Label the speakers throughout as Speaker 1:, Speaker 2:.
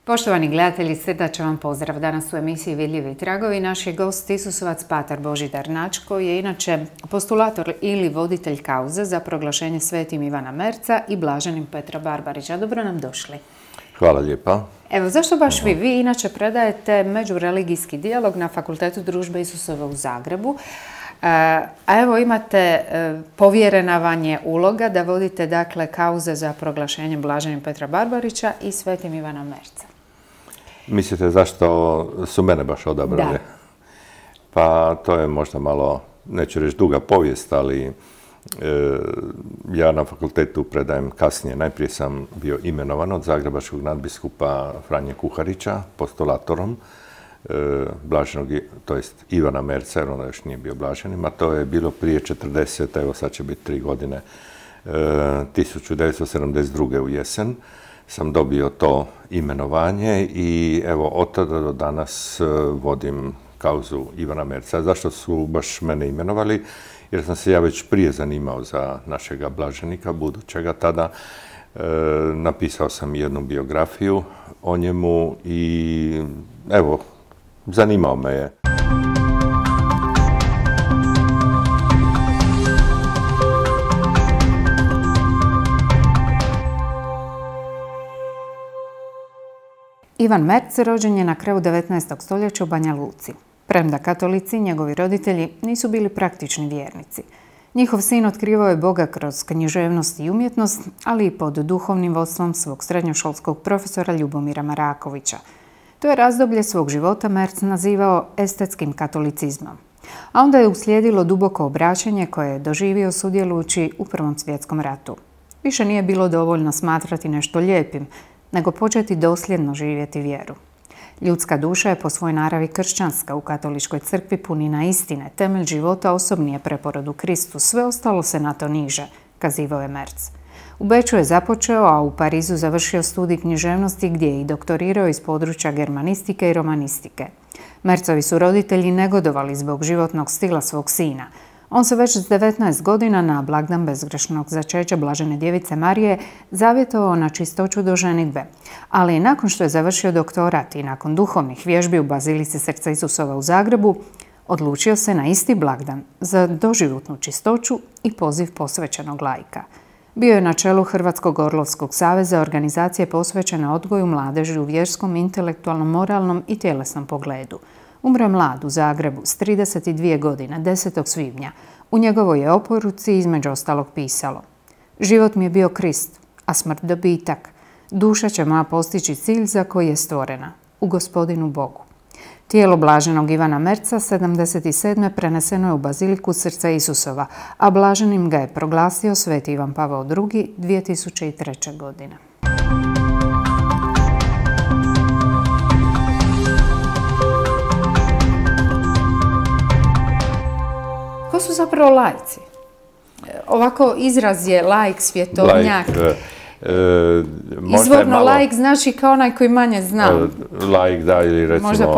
Speaker 1: Poštovani gledatelji, srdačan vam pozdrav. Danas u emisiji Vidljivi tragovi naš je gost Isusovac patar Božidar Nač, koji je inače postulator ili voditelj kauze za proglašenje Svetim Ivana Merca i Blaženim Petra Barbarića. Dobro nam došli.
Speaker 2: Hvala lijepa.
Speaker 1: Evo, zašto baš vi? Vi inače predajete međureligijski dijalog na Fakultetu Družbe Isusove u Zagrebu. A evo imate povjerena vam je uloga da vodite dakle kauze za proglašenje Blaženim Petra Barbarića i Svetim Ivana Merca.
Speaker 2: Mislite zašto su mene baš odabrali?
Speaker 1: Da.
Speaker 2: Pa to je možda malo, neću reći duga povijest, ali ja na fakultetu predajem kasnije. Najprije sam bio imenovan od zagrebačkog nadbiskupa Franje Kuharića, postulatorom Blaženog, to jest Ivana Merca, jer onda još nije bio Blaženim, a to je bilo prije 40, evo sad će biti 3 godine, 1972. u jesen sam dobio to imenovanje i evo od tada do danas vodim kauzu Ivana Merca. Zašto su baš mene imenovali? Jer sam se ja već prije zanimao za našega blaženika, budućega tada. Napisao sam jednu biografiju o njemu i evo, zanimao me je.
Speaker 1: Ivan Merc rođen je na kraju 19. stoljeća u Banja Luci. Premda katolici, njegovi roditelji nisu bili praktični vjernici. Njihov sin otkrivao je Boga kroz književnost i umjetnost, ali i pod duhovnim vodstvom svog srednjoškolskog profesora Ljubomira Marakovića. To je razdoblje svog života Merc nazivao estetskim katolicizmom. A onda je uslijedilo duboko obraćanje koje je doživio sudjelujući u Prvom svjetskom ratu. Više nije bilo dovoljno smatrati nešto lijepim, nego početi dosljedno živjeti vjeru. Ljudska duša je po svojoj naravi kršćanska, u katoličkoj crkvi punina istine, temelj života osobni je preporod u Kristu, sve ostalo se na to niže, kazivao je Merc. U Beču je započeo, a u Parizu završio studij književnosti gdje je i doktorirao iz područja germanistike i romanistike. Mercovi su roditelji negodovali zbog životnog stila svog sina. On se već s 19 godina na blagdan bezgrešnog začeća Blažene djevice Marije zavjetovao na čistoću do ženidbe. Ali nakon što je završio doktorat i nakon duhovnih vježbi u Bazilici Srca Isusova u Zagrebu, odlučio se na isti blagdan za doživotnu čistoću i poziv posvećenog laika. Bio je na čelu Hrvatskog orlovskog saveza, organizacije posvećene odgoju mladeži u vjerskom, intelektualnom, moralnom i tjelesnom pogledu. Umro je mlad u Zagrebu s 32 godine, 10. svibnja. U njegovoj je oporuci između ostalog pisalo: život mi je bio Krist, a smrt dobitak. Duša će moja postići cilj za koji je stvorena, u Gospodinu Bogu. Tijelo Blaženog Ivana Merca 77. preneseno je u Baziliku Srca Isusova, a Blaženim ga je proglasio Sveti Ivan Pavao II. 2003. godine. Ko su zapravo laici? Ovako izraz je laik, svjetovnjak. Izvorno laik znači kao onaj koji manje zna.
Speaker 2: Laik, da, ili recimo
Speaker 1: možda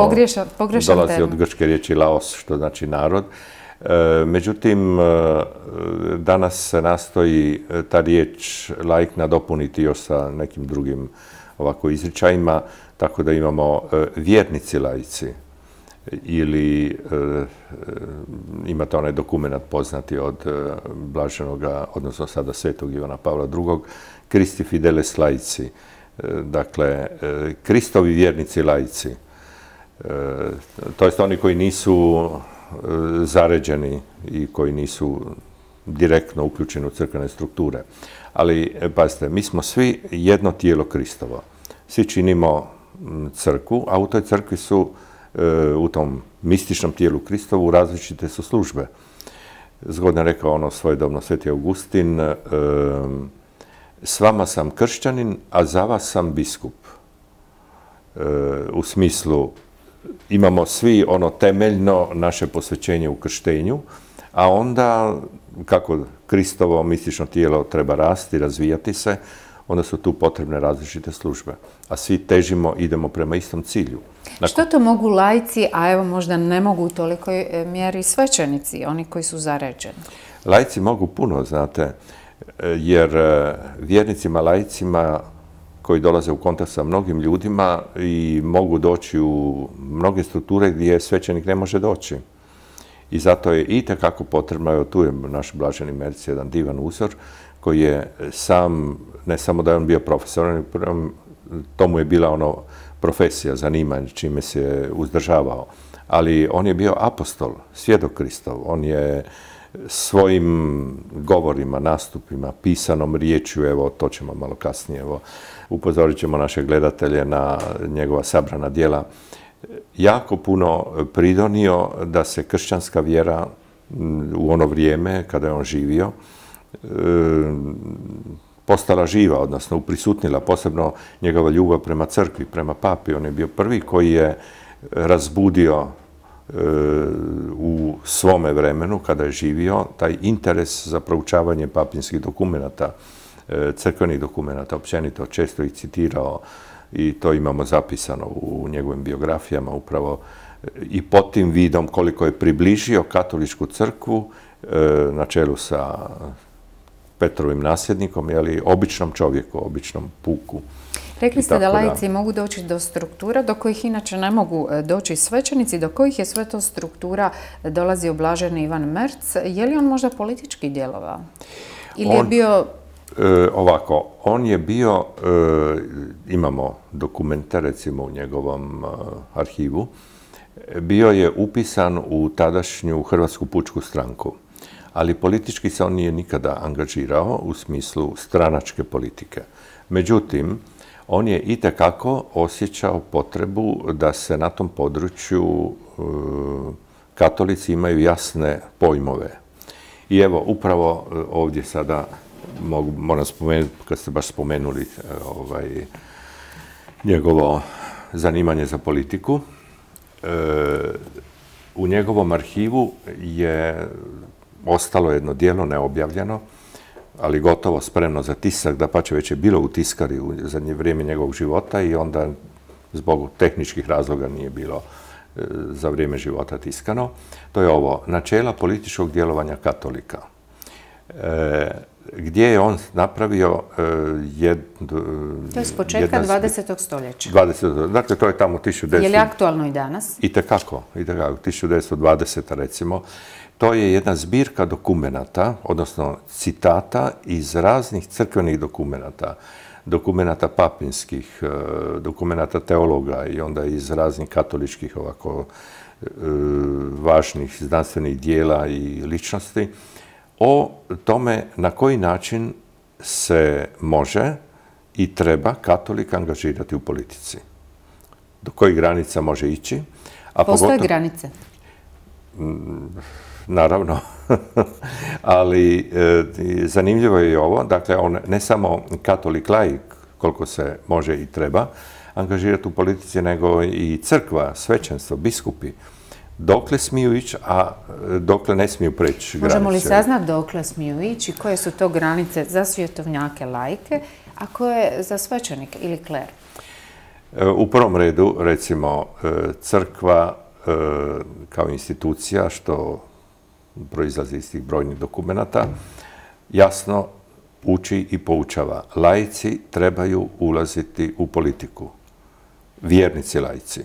Speaker 1: pogrešan
Speaker 2: dolazi
Speaker 1: termin.
Speaker 2: od grčke riječi laos, što znači narod. Međutim, danas se nastoji ta riječ laik nadopuniti još sa nekim drugim ovako izričajima, tako da imamo vjernici laici. Ili imate onaj dokument poznati od Blaženoga, odnosno sada Svetog Ivana Pavla II. Christi fideles laici. Dakle, Kristovi vjernici laici. To jest oni koji nisu zaređeni i koji nisu direktno uključeni u crkvene strukture. Ali, pazite, mi smo svi jedno tijelo Kristovo. Svi činimo crkvu, a u toj crkvi su u tom mističnom tijelu Kristovu različite su službe. Zgodno je rekao ono svojedobno Sveti Augustin: s vama sam kršćanin, a za vas sam biskup. U smislu, imamo svi ono temeljno naše posvećenje u krštenju, a onda kako Kristovo mistično tijelo treba rasti, razvijati se, onda su tu potrebne različite službe. A svi težimo, idemo prema istom cilju.
Speaker 1: Što to mogu laici, a evo možda ne mogu u tolikoj mjeri svećenici, oni koji su zaređeni?
Speaker 2: Laici mogu puno, znate, jer vjernicima, laicima koji dolaze u kontakt sa mnogim ljudima i mogu doći u mnoge strukture gdje svećenik ne može doći. I zato je itekako potrebno, evo tu je naš blaženi Merc jedan divan uzor, koji je sam, ne samo da je on bio profesor, to mu je bila profesija, zanimanje, čime se uzdržavao, ali on je bio apostol, svjedok Kristov, on je svojim govorima, nastupima, pisanom riječju, evo to ćemo malo kasnije, evo upozorit ćemo naše gledatelje na njegova sabrana djela, jako puno pridonio da se kršćanska vjera u ono vrijeme kada je on živio postala živa, odnosno uprisutnila, posebno njegova ljubav prema crkvi, prema papi. On je bio prvi koji je razbudio u svome vremenu, kada je živio, taj interes za proučavanje papinskih dokumenata, crkvenih dokumenata, općenito, često ih citirao i to imamo zapisano u njegovim biografijama upravo i pod tim vidom koliko je približio katoličku crkvu na čelu sa Petrovim nasljednikom, običnom čovjeku, običnom puku.
Speaker 1: Rekli ste da laici mogu doći do struktura do kojih inače ne mogu doći svećenici, do kojih je sve to struktura dolazio blaženi Ivan Merc. Je li on možda politički djelovao? Ili je bio...
Speaker 2: Ovako, on je bio, imamo dokumente recimo u njegovom arhivu, bio je upisan u tadašnju Hrvatsku pučku stranku, ali politički se on nije nikada angažirao u smislu stranačke politike. Međutim, on je itekako osjećao potrebu da se na tom području katolici imaju jasne pojmove. I evo, upravo ovdje sada moram spomenuti, kad ste baš spomenuli njegovo zanimanje za politiku, u njegovom arhivu je ostalo jedno djelo neobjavljeno, ali gotovo spremno za tisak, dapače već je bilo u tiskari u zadnje vrijeme njegovog života i onda zbog tehničkih razloga nije bilo za vrijeme života tiskano. To je ovo, načela političkog djelovanja katolika, gdje je on napravio
Speaker 1: To je s početka 20. stoljeća.
Speaker 2: Dakle, to je tamo 1900...
Speaker 1: Je li aktualno i danas?
Speaker 2: Itekako, 1920. recimo. To je jedna zbirka dokumenata, odnosno citata iz raznih crkvenih dokumenata, dokumenata papinskih, dokumenata teologa i onda iz raznih katoličkih ovako važnih znanstvenih dijela i ličnosti, o tome na koji način se može i treba katolik angažirati u politici. Do kojih granica može ići.
Speaker 1: Postoje granice?
Speaker 2: Naravno, ali zanimljivo je i ovo, dakle, on ne samo katolik laik, koliko se može i treba angažirati u politici, nego i crkva, svećenstvo, biskupi. Dokle smiju ići, a dokle ne smiju preći granice.
Speaker 1: Možemo li saznati dokle smiju ići, koje su to granice za svjetovnjake laike, a koje za svećenike ili kler?
Speaker 2: U prvom redu, recimo, crkva kao institucija, što proizlazi iz tih brojnih dokumenata, jasno uči i poučava. Laici trebaju ulaziti u politiku. Vjernici laici.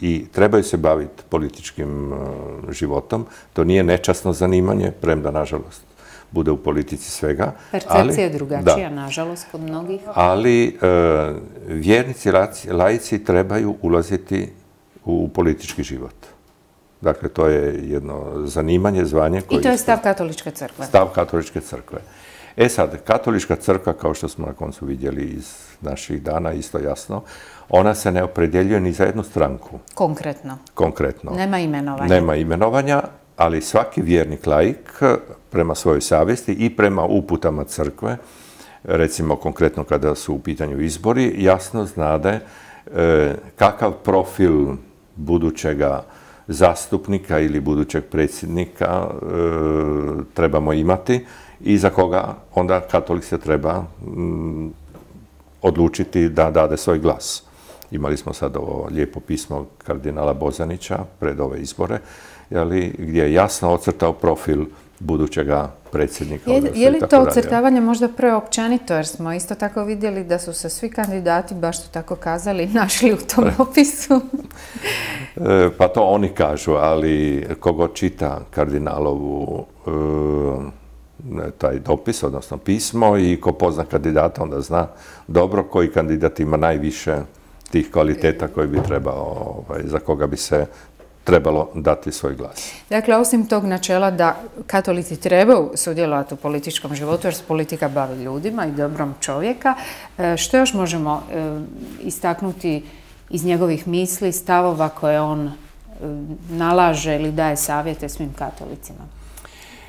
Speaker 2: I trebaju se baviti političkim životom. To nije nečasno zanimanje, premda, nažalost, bude u politici svega.
Speaker 1: Percepcija je drugačija, nažalost, kod mnogih.
Speaker 2: Ali vjernici laici trebaju ulaziti u politički život. Dakle, to je jedno zanimanje, zvanje.
Speaker 1: I to je stav katoličke crkve.
Speaker 2: Stav katoličke crkve. E sad, katolička crkva, kao što smo na koncu vidjeli iz naših dana, isto jasno, ona se ne opredjeljuje ni za jednu stranku.
Speaker 1: Konkretno?
Speaker 2: Konkretno.
Speaker 1: Nema imenovanja?
Speaker 2: Nema imenovanja, ali svaki vjernik laik prema svojoj savjesti i prema uputama crkve, recimo konkretno kada su u pitanju izbori, jasno znade kakav profil budućega zastupnika ili budućeg predsjednika trebamo imati i za koga onda katolik se treba odlučiti da dade svoj glas. Imali smo sad ovo lijepo pismo kardinala Bozanića pred ove izbore, gdje je jasno ocrtao profil budućega predsjednika.
Speaker 1: Je li to ocrtavanje možda preopćenito, jer smo isto tako vidjeli da su se svi kandidati, baš su tako kazali, našli u tom opisu?
Speaker 2: Pa to oni kažu, ali kogo čita kardinalovu taj dopis, odnosno pismo, i ko pozna kandidata, onda zna dobro koji kandidat ima najviše tih kvaliteta koji bi trebao, za koga bi se trebalo dati svoj glas.
Speaker 1: Dakle, osim tog načela da katolici trebaju sudjelovati u političkom životu, jer se politika bavi ljudima i dobrom čovjeka, što još možemo istaknuti iz njegovih misli, stavova koje on nalaže ili daje savjete svim katolicima?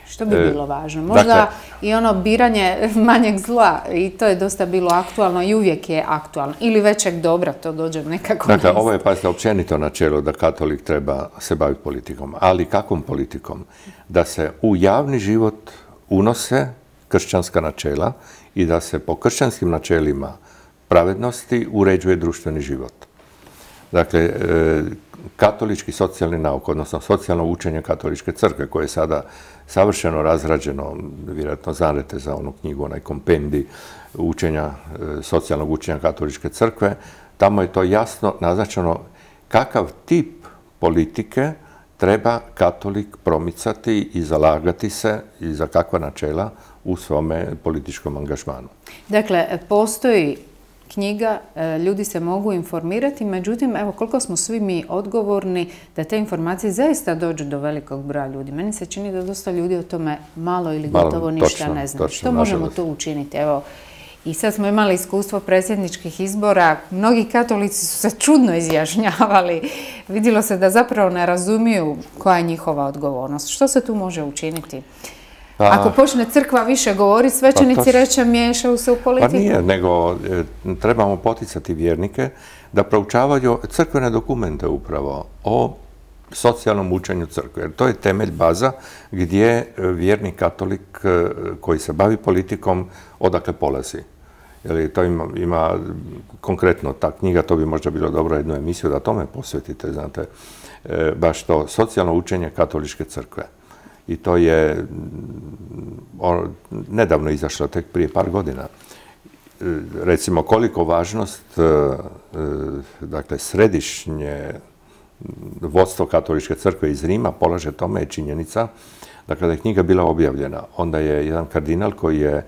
Speaker 1: Što bi bilo važno? Možda i ono biranje manjeg zla, i to je dosta bilo aktualno i uvijek je aktualno. Ili većeg dobra, to dođe nekako na isto.
Speaker 2: Dakle, ovo je pazite općenito načelo da katolik treba se baviti politikom. Ali kakvom politikom? Da se u javni život unose kršćanska načela i da se po kršćanskim načelima pravednosti uređuje društveni život. Dakle, katolički socijalni nauk, odnosno socijalno učenje katoličke crkve, koje je sada savršeno razrađeno, vjerojatno znate za onu knjigu, onaj kompendij učenja, socijalnog učenja katoličke crkve, tamo je to jasno naznačeno kakav tip politike treba katolik promicati i zalagati se i za kakva načela u svome političkom angažmanu.
Speaker 1: Dakle, postoji knjiga, ljudi se mogu informirati, međutim, evo koliko smo svi mi odgovorni da te informacije zaista dođu do velikog broja ljudi. Meni se čini da dosta ljudi o tome malo ili gotovo ništa ne zna. Što možemo tu učiniti? Evo, i sad smo imali iskustvo predsjedničkih izbora, mnogi katolici su se čudno izjašnjavali. Vidjelo se da zapravo ne razumiju koja je njihova odgovornost. Što se tu može učiniti? Ako počne crkva više govori, svećenici reće miješaju se u politiku.
Speaker 2: Pa nije, nego trebamo poticati vjernike da proučavaju crkvene dokumente upravo o socijalnom učenju crkve. Jer to je temelj, baza gdje vjernik katolik koji se bavi politikom odakle polazi. Jer to ima konkretno ta knjiga, to bi možda bilo dobro jednu emisiju da tome posvetite, znate, baš to socijalno učenje katoličke crkve. I to je nedavno izašlo, tek prije par godina. Recimo, koliko važnost, dakle, središnje vodstvo katoličke crkve iz Rima polaže tome je činjenica da kada je knjiga bila objavljena, onda je jedan kardinal koji je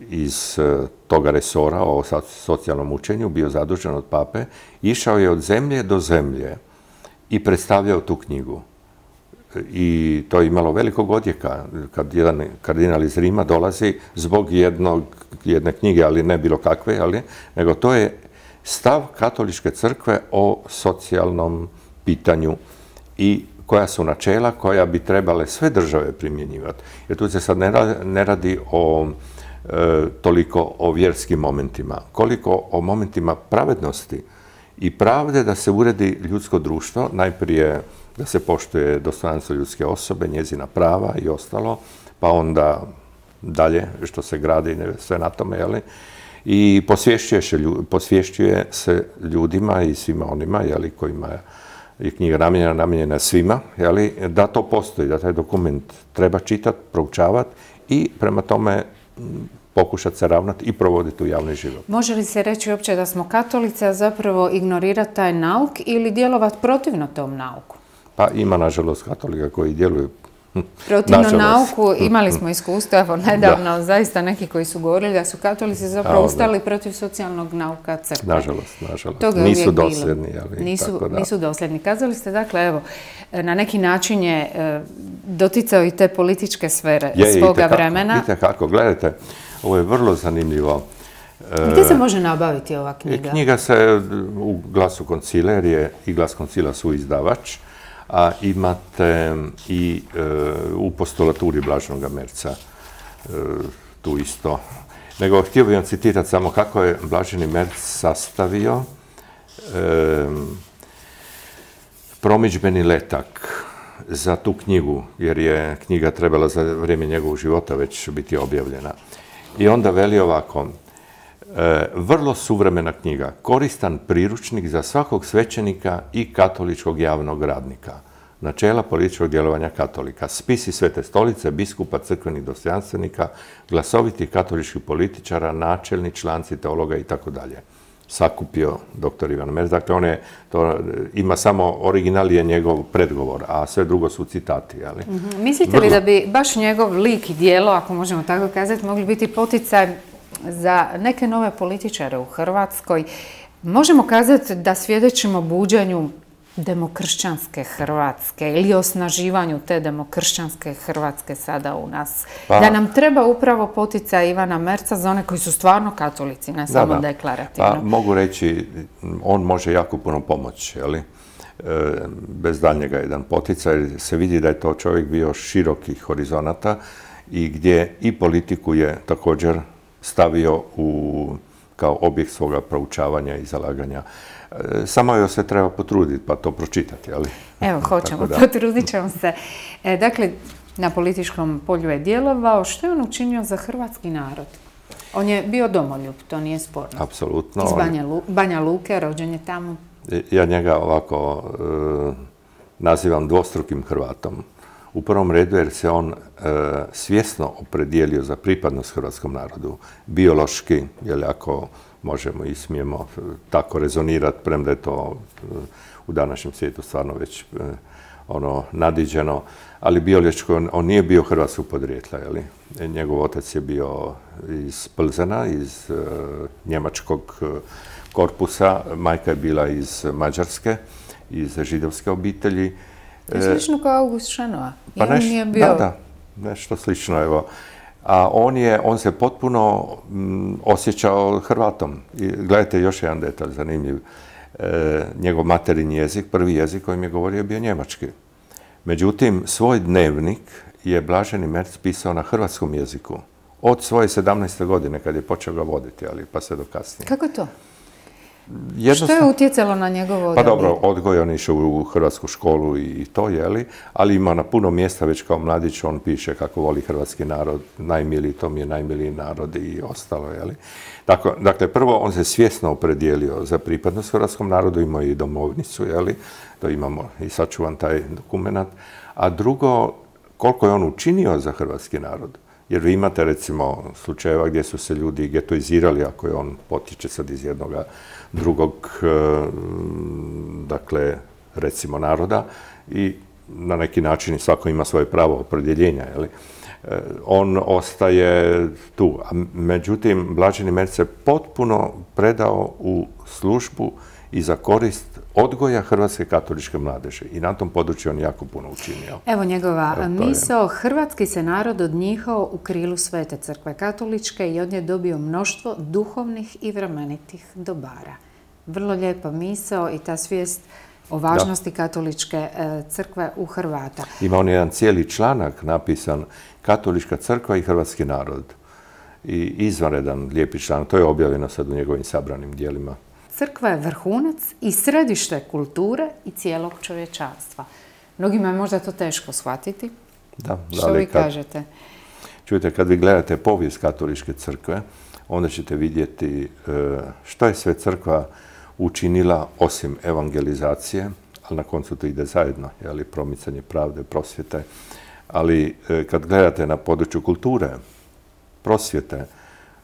Speaker 2: iz toga resora o socijalnom učenju bio zadužen od pape, išao je od zemlje do zemlje i predstavljao tu knjigu. I to je imalo velikog odjeka kad jedan kardinal iz Rima dolazi zbog jedne knjige, ali ne bilo kakve, nego to je stav katoličke crkve o socijalnom pitanju i koja su načela koja bi trebale sve države primjenjivati. Jer tu se sad ne radi toliko o vjerskim momentima, koliko o momentima pravednosti i pravde da se uredi ljudsko društvo, najprije da se poštuje dostojanstvo ljudske osobe, njezina prava i ostalo, pa onda dalje što se gradi sve na tome, i posvješćuje se ljudima i svima onima, kojima je knjiga namijenjena svima, da to postoji, da taj dokument treba čitati, proučavati i prema tome pokušati se ravnati i provoditi u javni život.
Speaker 1: Može li se reći uopće da smo katolici, a zapravo ignorirati taj nauk ili djelovati protivno tom nauku?
Speaker 2: Pa ima, nažalost, katolika koji djeluju
Speaker 1: protivno nauku. Imali smo iskustvo, evo, nedavno, zaista neki koji su govorili da su katolici zapravo ustali protiv socijalnog nauka crkve.
Speaker 2: Nažalost. Nisu dosljedni,
Speaker 1: Nisu dosljedni. Kazali ste, dakle, evo, na neki način je doticao i te političke sfere svoga vremena.
Speaker 2: Vidite kako, gledajte, ovo je vrlo zanimljivo.
Speaker 1: Gdje se može nabaviti ova knjiga?
Speaker 2: Knjiga se u Glasu Koncila, jer je i Glas Koncila su izdavač, a imate i u postulaturi Blaženog Merca tu isto. Nego htio bih vam citirati samo kako je Blaženi Merc sastavio promidžbeni letak za tu knjigu, jer je knjiga trebala za vrijeme njegovog života već biti objavljena. I onda veli ovako: vrlo suvremena knjiga, koristan priručnik za svakog svećenika i katoličkog javnog radnika. načela političkog djelovanja katolika, spisi Svete stolice, biskupa, crkvenih dostojanstvenika, glasovitih katoličkih političara, načelni članci teologa i tako dalje. Sakupio dr. Ivan Merz. Dakle, ima samo original je njegov predgovor, a sve drugo su citati.
Speaker 1: Mislite li da bi baš njegov lik i djelo, ako možemo tako kazati, mogli biti poticaj za neke nove političare u Hrvatskoj? Možemo kazati da svjedočimo buđanju demokršćanske Hrvatske ili osnaživanju te demokršćanske Hrvatske sada u nas. Da nam treba upravo poticaj Ivana Merza za one koji su stvarno katolici, ne samo deklarativno.
Speaker 2: Pa mogu reći, on može jako puno pomoći, bez daljnjega jedan poticaj. Se vidi da je to čovjek bio širokih horizonata i gdje i politiku je također stavio kao objekt svoga proučavanja i zalaganja. Samo joj se treba potruditi pa to pročitati, ali...
Speaker 1: Evo, hoćemo, potrudit ćemo se. Dakle, na političkom polju je djelovao. Što je on učinio za hrvatski narod? On je bio domoljub, to nije sporno.
Speaker 2: Apsolutno.
Speaker 1: Iz Banja Luke, rođen je tamo.
Speaker 2: Ja njega ovako nazivam dvostrukim Hrvatom. U prvom redu jer se on svjesno opredijelio za pripadnost hrvatskom narodu. Biološki, jer ako možemo i smijemo tako rezonirati, premda je to u današnjem svijetu stvarno već nadiđeno, ali biološki on nije bio hrvatskog podrijetla. Njegov otac je bio iz Plzena, iz njemačkog korpusa, majka je bila iz Mađarske, iz židovske obitelji.
Speaker 1: Slično kao August Šenoa.
Speaker 2: Pa nešto slično, evo. A on se potpuno osjećao Hrvatom. Gledajte, još jedan detalj zanimljiv. Njegov materinji jezik, prvi jezik kojim je govorio, je bio njemački. Međutim, svoj dnevnik je Blaženi Merz pisao na hrvatskom jeziku. Od svoje 17. godine, kad je počeo ga voditi, ali pa sve do kasnije.
Speaker 1: Kako to? Što je utjecalo na njegovo odabir?
Speaker 2: Pa dobro, odgoj, on išao u hrvatsku školu i to, ali ima na puno mjesta, već kao mladić, on piše kako voli hrvatski narod, najmiliji, to mi je najmiliji narod i ostalo, Dakle, prvo, on se svjesno opredijelio za pripadnost hrvatskom narodu, imao i domovnicu, to imamo i sačuvan taj dokument. A drugo, koliko je on učinio za hrvatski narod. Jer vi imate, recimo, slučajeva gdje su se ljudi getoizirali, ako je on potiče sad iz jednog drugog, dakle, recimo, naroda i na neki način svako ima svoje pravo opredjeljenja, on ostaje tu. Međutim, Blaženi Merz se potpuno predao u službu i za korist odgoja hrvatske katoličke mladeže. I na tom području on jako puno učinio.
Speaker 1: Evo njegova misao. Hrvatski se narod odnjihao u krilu Svete crkve katoličke i od nje dobio mnoštvo duhovnih i vremenitih dobara. Vrlo lijepa misao i ta svijest o važnosti katoličke crkve u Hrvata.
Speaker 2: Ima on jedan cijeli članak napisan Katolička crkva i hrvatski narod. I izvanredan lijepi članak. To je objavljeno sad u njegovim sabranim dijelima.
Speaker 1: Crkva je vrhunac i središte kulture i cijelog čovječanstva. Mnogima je možda to teško shvatiti. Što vi kažete?
Speaker 2: Čujte, kad vi gledate povijest katoličke crkve, onda ćete vidjeti što je sve crkva učinila osim evangelizacije, ali na koncu to ide zajedno, promicanje pravde, prosvjete. Ali kad gledate na području kulture, prosvjete,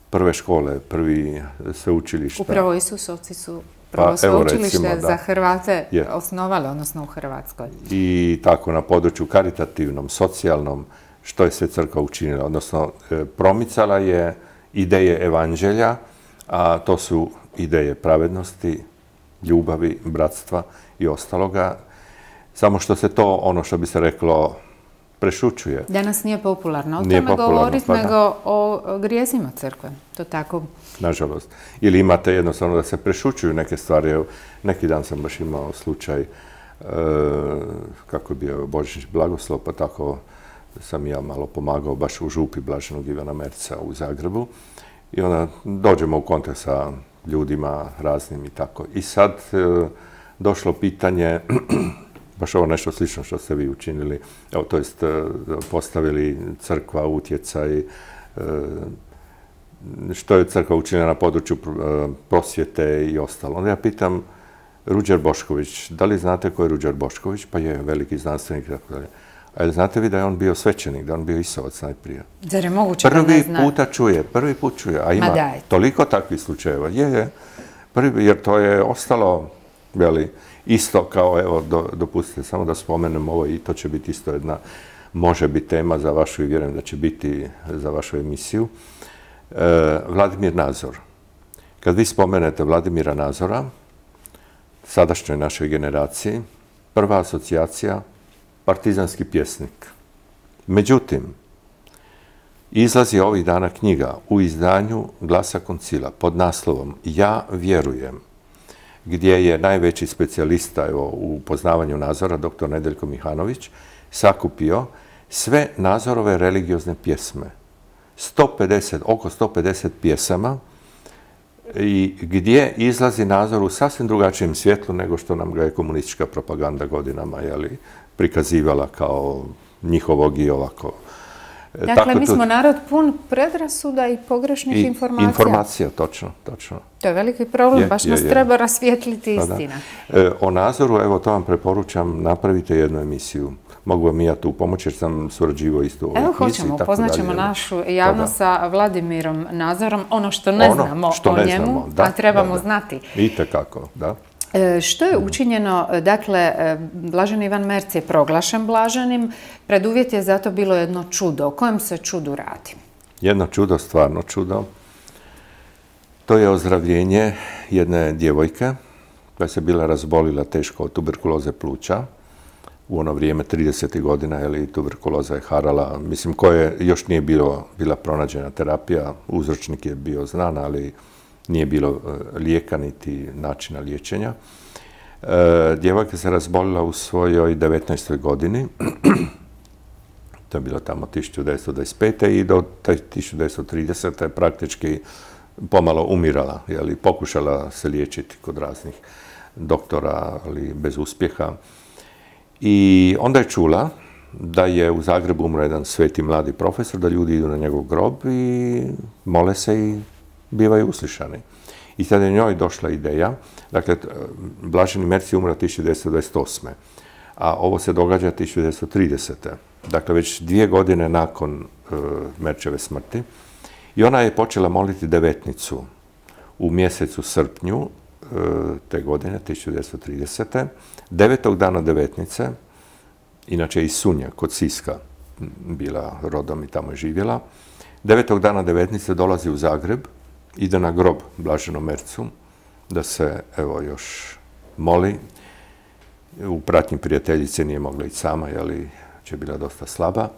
Speaker 2: prve škole, prvi sveučilišta.
Speaker 1: Upravo Isusovci su prvo sveučilište za Hrvate osnovali, odnosno u Hrvatskoj.
Speaker 2: I tako na području karitativnom, socijalnom, što je sve crkva učinila. Odnosno, promicala je ideje evanđelja, a to su ideje pravednosti, ljubavi, bratstva i ostaloga. Samo što se to, ono što bi se reklo, prešućuje.
Speaker 1: Danas nije popularno o tome govoriti, nego o grijesima crkve. To tako.
Speaker 2: Nažalost. Ili imate jednostavno da se prešućuju neke stvari. Neki dan sam baš imao slučaj kako je bio Božić blagoslov, pa tako sam ja malo pomagao baš u župi Blaženog Ivana Merza u Zagrebu. I onda dođemo u kontakt sa ljudima raznim i tako. I sad došlo pitanje, baš ovo nešto slično što ste vi učinili, to jest postavili crkva, utjecaj, što je crkva učinila na području prosvjete i ostalo. Onda ja pitam, Ruđer Bošković. Da li znate ko je Ruđer Bošković? Pa je veliki znanstvenik i tako dalje. A znate vi da je on bio svećenik, da je on bio Isovac najprije?
Speaker 1: Zar je moguće da ne zna?
Speaker 2: Prvi put čuje, a ima toliko takvih slučajeva. Jer to je ostalo, isto kao, evo, dopustite samo da spomenem ovo i to će biti isto jedna, može biti tema za vašu i vjerujem da će biti za vašu emisiju. Vladimir Nazor. Kad vi spomenete Vladimira Nazora, sadašnjoj našoj generaciji, prva asocijacija, partizanski pjesnik. Međutim, izlazi ovih dana knjiga u izdanju Glasa koncila pod naslovom Ja vjerujem, gdje je najveći specijalista u poznavanju Nazora, dr. Nedeljko Mihanović, sakupio sve Nazorove religiozne pjesme. Oko 150 pjesama i gdje izlazi Nazor u sasvim drugačijem svjetlu nego što nam ga je komunistička propaganda godinama prikazivala kao njihovog i ovako.
Speaker 1: Dakle, mi smo narod pun predrasuda i pogrešnih informacija.
Speaker 2: Informacija, točno.
Speaker 1: To je veliki problem, baš nas treba rasvijetliti istina.
Speaker 2: O Nazoru, evo to vam preporučam, napravite jednu emisiju. Mogu vam i ja tu pomoći jer sam surađivao isto u ovoj knjizi.
Speaker 1: Evo hoćemo, upoznaćemo našu javnost sa Vladimirom Nazorom, ono što ne znamo o njemu, a trebamo znati.
Speaker 2: Itekako, da.
Speaker 1: Što je učinjeno, dakle, Blaženi Ivan Merc je proglašen blaženim, preduvjet je zato bilo jedno čudo. O kojem se čudu radi?
Speaker 2: Jedno čudo, stvarno čudo. To je ozdravljenje jedne djevojke koja se bila razbolila teško od tuberkuloze pluća. U ono vrijeme, 30. godina, tuberkuloza je harala, mislim, koje još nije bila pronađena terapija, uzročnik je bio znan, ali nije bilo lijeka niti načina liječenja. Djevojka se razbolila u svojoj 19. godini, to je bilo tamo 1925. i do 1930. praktički pomalo umirala, pokušala se liječiti kod raznih doktora, ali bez uspjeha. I onda je čula da je u Zagrebu umro jedan sveti mladi profesor, da ljudi idu na njegov grob i mole se i bivaju uslišani. I tada je njoj došla ideja, dakle, Blaženi Merc je umro 1928. A ovo se događa 1930. Dakle, već 2 godine nakon Merčeve smrti. I ona je počela moliti devetnicu u mjesecu srpnju te godine, 1930. 9. dana devetnice, inače iz Sunja, kod Siska, bila rodom i tamo je živjela. 9. dana devetnice dolazi u Zagreb, ide na grob Blaženom Mercu, da se, evo, još moli. U pratnji prijateljice nije mogla ići sama, je bila dosta slaba.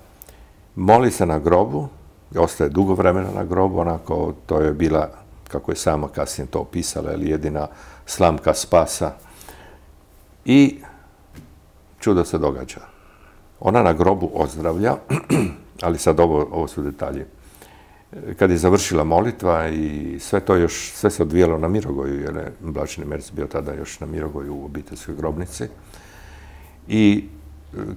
Speaker 2: Moli se na grobu, ostaje dugo vremena na grobu, onako, to je bila, kako je sama kasnije to opisala, jedina slamka spasa. I čudo se događa. Ona na grobu ozdravlja, ali sad ovo su detalji. Kad je završila molitva i sve se odvijalo na Mirogoju, jer je Blaženi Merc bio tada još na Mirogoju u obiteljskoj grobnici. I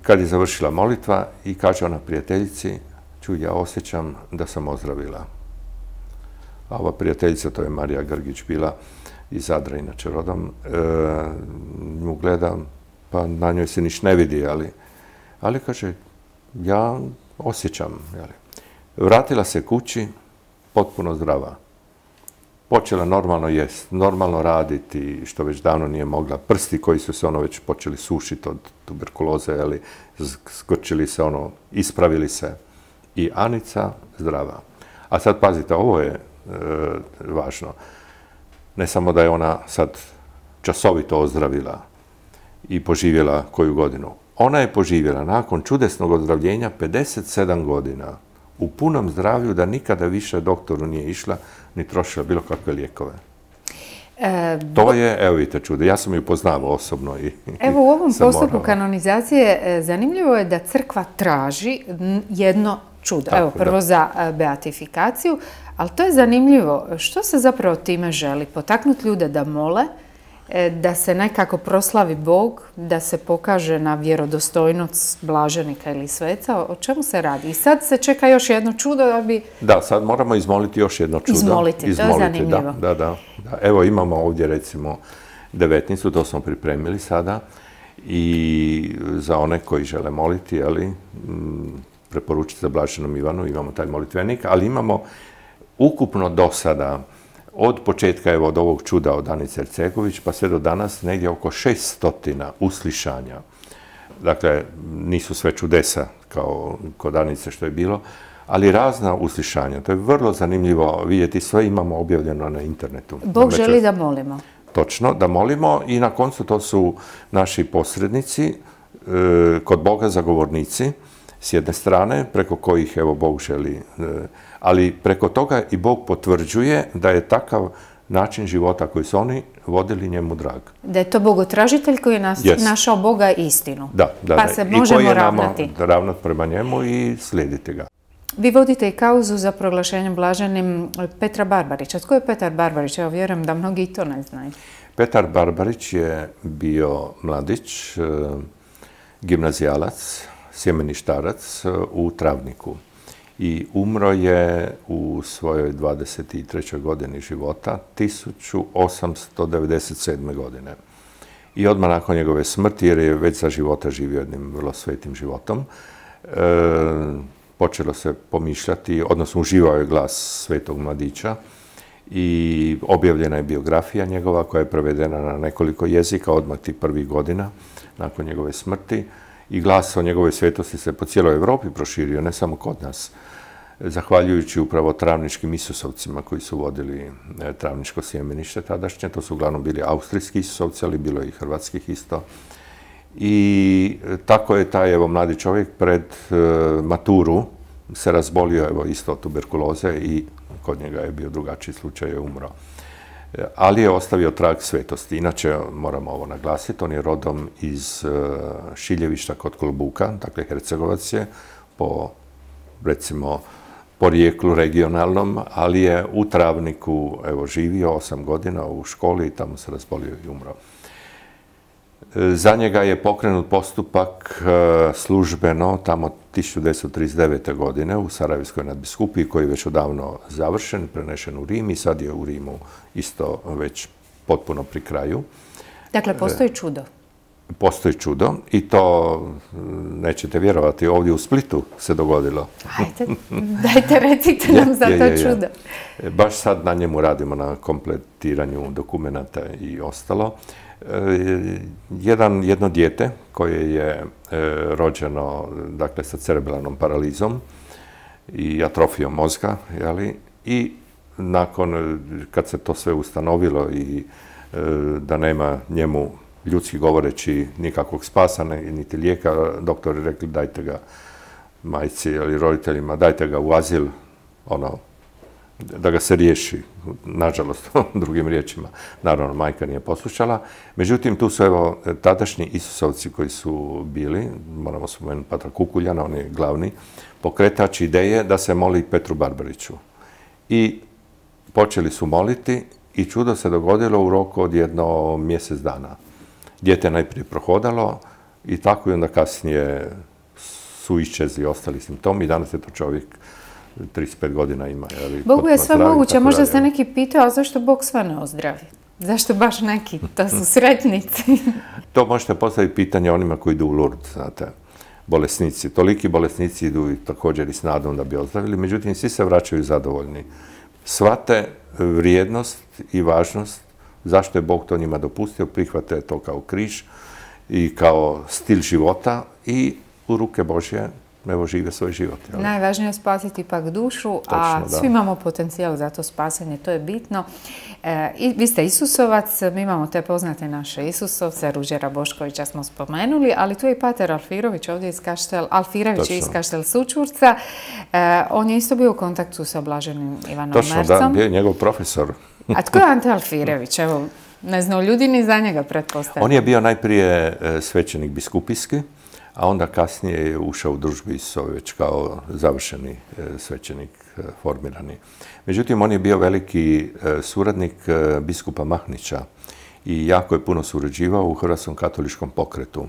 Speaker 2: kad je završila molitva i kaže ona prijateljici, čuj, ja osjećam da sam ozdravila. A ova prijateljica, to je Marija Grgić bila, iz Zadra, inače rodom, nju gledam, pa na njoj se niš ne vidi, ali kaže, ja osjećam. Vratila se kući, potpuno zdrava. Počela normalno jest, normalno raditi, što već davno nije mogla. Prsti koji su se već počeli sušiti od tuberkuloze, skrčili se, ispravili se. I Anica zdrava. A sad pazite, ovo je važno. Ne samo da je ona sad časovito ozdravila i poživjela koju godinu. Ona je poživjela nakon čudesnog ozdravljenja 57 godina u punom zdravlju, da nikada više doktoru nije išla ni trošila bilo kakve lijekove. To je, evo vidite, čudo. Ja sam ju poznavao osobno.
Speaker 1: Evo u ovom postupku kanonizacije zanimljivo je da crkva traži jedno čudo. Evo prvo za beatifikaciju, ali to je zanimljivo. Što se zapravo time želi? Potaknuti ljude da mole, da se nekako proslavi Bog, da se pokaže na vjerodostojnost blaženika ili sveca. O čemu se radi? I sad se čeka još jedno čudo da bi...
Speaker 2: Da, sad moramo izmoliti još jedno čudo.
Speaker 1: Izmoliti, to je zanimljivo.
Speaker 2: Da. Evo imamo ovdje recimo devetnicu, to smo pripremili sada i za one koji žele moliti, preporučiti za Blaženom Ivanu, imamo taj molitvenik, ali imamo ukupno do sada, od početka od ovog čuda od Anice Ercegović pa sve do danas, negdje oko 600 uslišanja. Dakle, nisu sve čudesa kao kod Anice što je bilo, ali razna uslišanja. To je vrlo zanimljivo vidjeti, sve imamo objavljeno na internetu.
Speaker 1: Bog želi da molimo.
Speaker 2: Točno, da molimo i na koncu to su naši posrednici, kod Boga zagovornici, s jedne strane, preko kojih Bog želi, ali preko toga i Bog potvrđuje da je takav način života koji su oni vodili njemu drag.
Speaker 1: Da je to bogotražitelj koji je našao Boga istinu.
Speaker 2: Da.
Speaker 1: Pa se možemo ravnati.
Speaker 2: I koji je ravnati prema njemu i slijediti ga.
Speaker 1: Vi vodite i kauzu za proglašenjem blaženim Petra Barbarića. Tko je Petar Barbarić? Evo, vjerujem da mnogi i to ne znaju.
Speaker 2: Petar Barbarić je bio mladić, gimnazijalac, sjemeništarac u Travniku. I umro je u svojoj 23. godini života 1897. godine. I odmah nakon njegove smrti, jer je već za života živio jednim vrlo svetim životom, počelo se pomišljati, odnosno uživao je glas svetog mladića i objavljena je biografija njegova koja je prevedena na nekoliko jezika odmah tih prvih godina nakon njegove smrti. I glas o njegovoj svetosti se po cijeloj Europi proširio, ne samo kod nas, zahvaljujući upravo travničkim Isusovcima koji su vodili travničko sjemenište tadašnje. To su uglavnom bili austrijski Isusovci, ali bilo je i hrvatskih isto. I tako je taj mladi čovjek pred maturu se razbolio isto od tuberkuloze i kod njega je bio drugačiji slučaj, je umro. Ali je ostavio trag svetosti. Inače, moramo ovo naglasiti, on je rodom iz Šiljevišta kod Kolbuka, dakle Hercegovac je, po porijeklu regionalnom, ali je u Travniku živio 8 godina u školi i tamo se razbolio i umro. Za njega je pokrenut postupak službeno tamo 1939. godine u Sarajevskoj nadbiskupiji koji je već odavno završen, prenešen u Rim i sad je u Rimu isto već potpuno pri kraju.
Speaker 1: Dakle, postoji čudo.
Speaker 2: Postoji čudo i to, nećete vjerovati, ovdje u Splitu se dogodilo.
Speaker 1: Ajde, dajte recite nam za to čudo.
Speaker 2: Baš sad na njemu radimo, na kompletiranju dokumenata i ostalo. Jedno dijete koje je rođeno, dakle, sa cerebralnom paralizom i atrofijom mozga, i nakon, kad se to sve ustanovilo i da nema njemu, ljudski govoreći, nikakvog spasa, niti lijeka, doktori rekli dajte ga majci ili roditeljima, dajte ga u azil, da ga se riješi, nažalost, drugim riječima. Naravno, majka nije poslušala. Međutim, tu su tadašnji Isusovci koji su bili, moramo spomenuti Patra Kukuljana, on je glavni pokretač ideje da se moli Petru Barbariću. I počeli su moliti i čudo se dogodilo u roku od jedno mjesec dana. Dijete najprije prohodalo i tako i onda kasnije su iščezli ostali simptomi i danas je to čovjek 35 godina ima.
Speaker 1: Bogu je sve moguće, možda se neki pitao, a zašto Bog sve ne ozdravi? Zašto baš neki? To su sretnici.
Speaker 2: To možete postaviti pitanje onima koji idu u Lourdes, znate, bolesnici. Toliki bolesnici idu također i s nadom da bi ozdravili, međutim, svi se vraćaju zadovoljni. Shvate vrijednost i važnost zašto je Bog to njima dopustio, prihvate to kao križ i kao stil života i u ruke Božje žive svoj život.
Speaker 1: Najvažnije je spasiti ipak dušu, a svi imamo potencijal za to spasanje, to je bitno. Vi ste Isusovac, mi imamo te poznate naše Isusovce, Ruđera Boškovića smo spomenuli, ali tu je i pater Alfirović ovdje iz Alfirević iz Kaštel Sućurca. On je isto bio u kontaktu sa blaženim Ivanom Mercom.
Speaker 2: Točno, da, bio je njegov profesor.
Speaker 1: A tko je Ante Alfirević? Evo, ne znaju ljudi ni za njega, pretpostavljam.
Speaker 2: On je bio najprije svećenik biskupijski, a onda kasnije je ušao u družbu Isusove već kao završeni svećenik formirani. Međutim, on je bio veliki suradnik biskupa Mahnića i jako je puno surađivao u Hrvatskom katoličkom pokretu.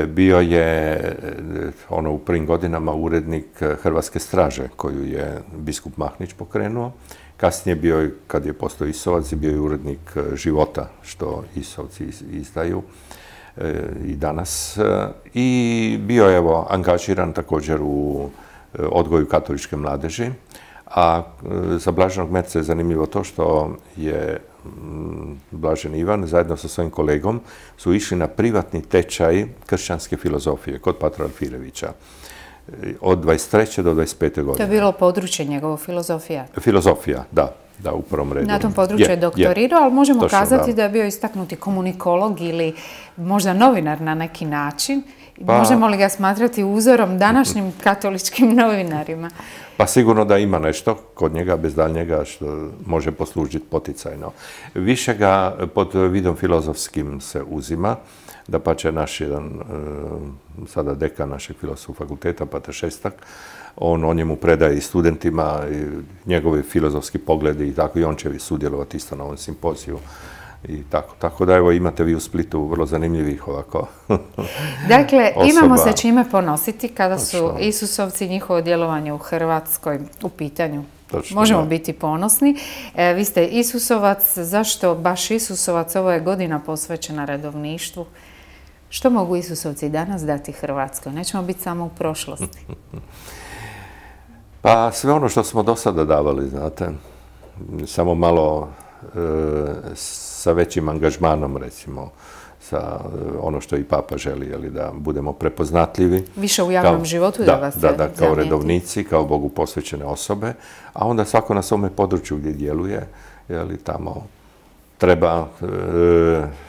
Speaker 2: Bio je u prvim godinama urednik Hrvatske straže koju je biskup Mahnić pokrenuo Kasnije bio je, kad je postao Isovac, bio je urednik Života, što Isovci izdaju i danas. I bio je, evo, angažiran također u odgoju katoličke mladeži. A za Blaženog Merca je zanimljivo to što je Blažen Ivan zajedno sa svojim kolegom su išli na privatni tečaj kršćanske filozofije kod patra Alfirevića od 23. do 25. godine.
Speaker 1: To je bilo područje njegovo filozofija?
Speaker 2: Filozofija, da, u prvom redu.
Speaker 1: Na tom području je doktorirao, ali možemo kazati da je bio istaknuti komunikolog ili možda novinar na neki način. Možemo li ga smatrati uzorom današnjim katoličkim novinarima?
Speaker 2: Pa sigurno da ima nešto kod njega, bez daljnjega, što može poslužiti poticajno. Više ga pod vidom filozofskim se uzima, da pa će naš jedan, sada dekan našeg filozofskog fakulteta, Pater Šestak, on o njemu predaje i studentima, i njegovi filozofski pogledi i tako, i on će sudjelovati isto na ovom simpoziju. I tako da, evo, imate vi u Splitu vrlo zanimljivih ovako
Speaker 1: Dakle, imamo se čime ponositi kada su Isusovci i njihovo djelovanje u Hrvatskoj u pitanju. Možemo biti ponosni. Vi ste Isusovac. Zašto baš Isusovac? Ovo je godina posvećena redovništvu. Što mogu Isusovci danas dati Hrvatskoj? Nećemo biti samo u prošlosti.
Speaker 2: Pa sve ono što smo do sada davali, znate, samo malo sa većim angažmanom, recimo, sa ono što i Papa želi, da budemo prepoznatljivi.
Speaker 1: Više u javnom životu da vas se zamijeti.
Speaker 2: Da, kao redovnici, kao Bogu posvećene osobe, a onda svako na svome području gdje djeluje, tamo treba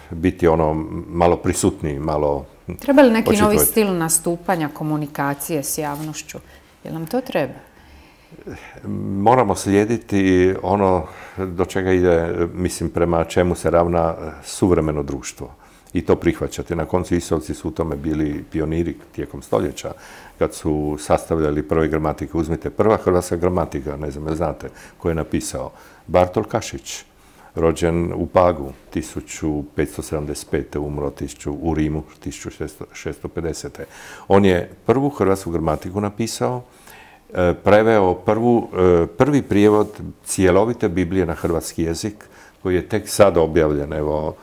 Speaker 2: biti malo prisutniji, malo
Speaker 1: treba li neki novi stil nastupanja, komunikacije s javnošću? Jel nam to treba?
Speaker 2: Moramo slijediti ono do čega ide, mislim, prema čemu se ravna suvremeno društvo. I to prihvaćati. Na koncu Isovci su u tome bili pioniri tijekom stoljeća, kad su sastavljali prve gramatike. Uzmite, prva hrvatska gramatika, ne znam, znate, koju je napisao Bartol Kašić, rođen u Pagu 1575. umro u Rimu 1650. On je prvu hrvatsku gramatiku napisao, preveo prvi prijevod cjelovite Biblije na hrvatski jezik, koji je tek sad objavljen, evo,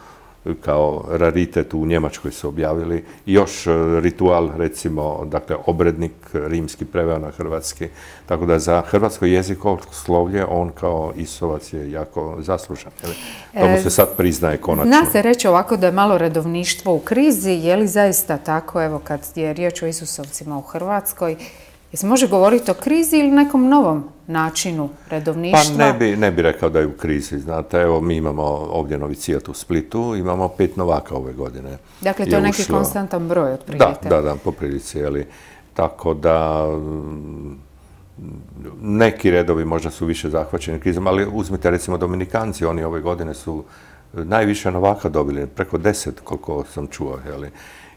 Speaker 2: kao raritet u Njemačkoj su objavili. Još ritual, recimo, dakle, obrednik rimski preveo na hrvatski. Tako da za hrvatsko jezikoslovlje on kao Isovac je jako zaslužan. To mu se sad priznaje konačno.
Speaker 1: Zna se reći ovako da je malo redovništvo u krizi. Je li zaista tako, evo, kad je riječ o Isusovcima u Hrvatskoj? Se može govoriti o krizi ili nekom novom načinu redovništva?
Speaker 2: Pa ne bi rekao da je u krizi. Znate, evo, mi imamo ovdje novicijat u Splitu, imamo 5 novaka ove godine.
Speaker 1: Dakle, to je neki konstantan broj, otprilike.
Speaker 2: Da, po prilici, tako da neki redovi možda su više zahvaćeni krizom, ali uzmite recimo Dominikanci, oni ove godine su najviše novaka dobili, preko 10 koliko sam čuo,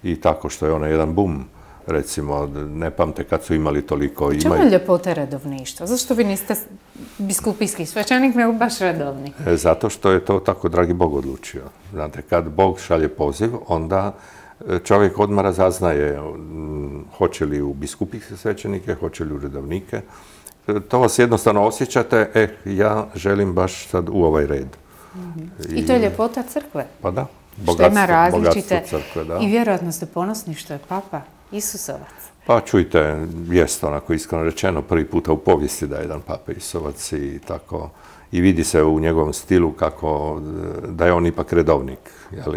Speaker 2: i tako što je jedan bum. Recimo, ne pamte kad su imali toliko.
Speaker 1: Čemu je ljepota redovništva? Zašto vi niste biskupijski svećenik, nego baš redovni?
Speaker 2: Zato što je to tako dragi Bog odlučio. Znate, kad Bog šalje poziv, onda čovjek odmah razaznaje hoće li u biskupijske svećenike, hoće li u redovnike. To vas jednostavno osjećate, ja želim baš sad u ovaj red.
Speaker 1: I to je ljepota crkve?
Speaker 2: Pa da,
Speaker 1: bogatstvo
Speaker 2: crkve, da.
Speaker 1: I vjerojatno ste ponosni što je Papa Isusovac.
Speaker 2: Pa čujte, jest onako iskreno rečeno prvi puta u povijesti da je jedan Papa Isovac i tako. I vidi se u njegovom stilu kako da je on ipak redovnik.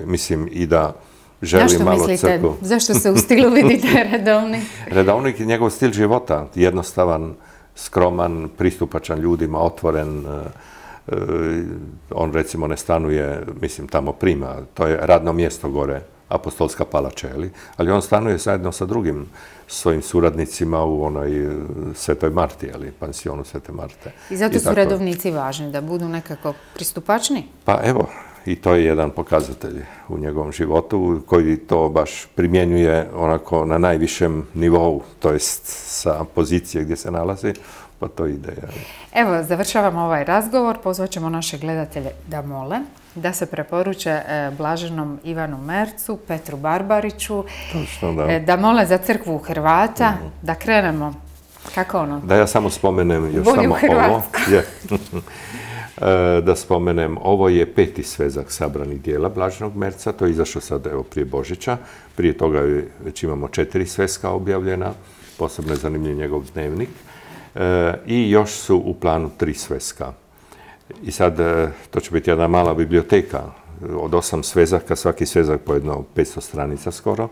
Speaker 2: Mislim i da želi malo crkvu.
Speaker 1: Zašto se u stilu vidi da je redovnik?
Speaker 2: Redovnik je njegov stil života. Jednostavan, skroman, pristupačan ljudima, otvoren. On recimo ne stanuje, mislim tamo prima, to je radno mjesto gore, Apostolska palača, ali on stanuje zajedno sa drugim svojim suradnicima u onoj Svetoj Marti, pansionu Svete Marte.
Speaker 1: I zato su redovnici važni, da budu nekako pristupačni?
Speaker 2: Pa evo, i to je jedan pokazatelj u njegovom životu koji to baš primjenjuje onako na najvišem nivou, to jest sa pozicije gdje se nalazi, pa to ide.
Speaker 1: Evo, završavamo ovaj razgovor, pozvat ćemo naše gledatelje da mole, da se preporuče Blaženom Ivanu Mercu, Petru Barbariću, da mole za crkvu Hrvata, da krenemo Kako ono?
Speaker 2: Da ja samo spomenem još
Speaker 1: Bolje u
Speaker 2: samo ovo.
Speaker 1: Hrvatskoj.
Speaker 2: Da spomenem, ovo je 5. svezak sabranih dijela Blaženog Merca, to je izašlo sad evo prije Božića. Prije toga već imamo 4 sveska objavljena, posebno je zanimljiv njegov dnevnik. I još su u planu 3 sveska. I sad, to će biti jedna mala biblioteka od 8 svezaka, svaki svezak po jedno 500 stranica skoro.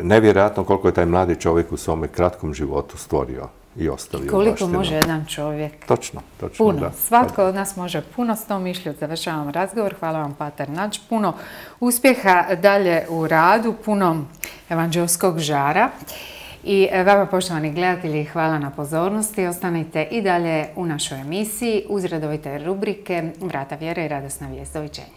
Speaker 2: Nevjerojatno koliko je taj mladi čovjek u svome kratkom životu stvorio i ostavio
Speaker 1: Koliko
Speaker 2: baštinu.
Speaker 1: može jedan čovjek?
Speaker 2: Točno,
Speaker 1: Puno.
Speaker 2: da.
Speaker 1: Svatko od nas može puno, s tom mišlju završavam razgovor. Hvala vam, pater Nađ. Puno uspjeha dalje u radu, puno evanđelskog žara. I vama, poštovani gledatelji, hvala na pozornosti. Ostanite i dalje u našoj emisiji uz redovite rubrike Vrata vjere i radosna vijest. Doviđenja.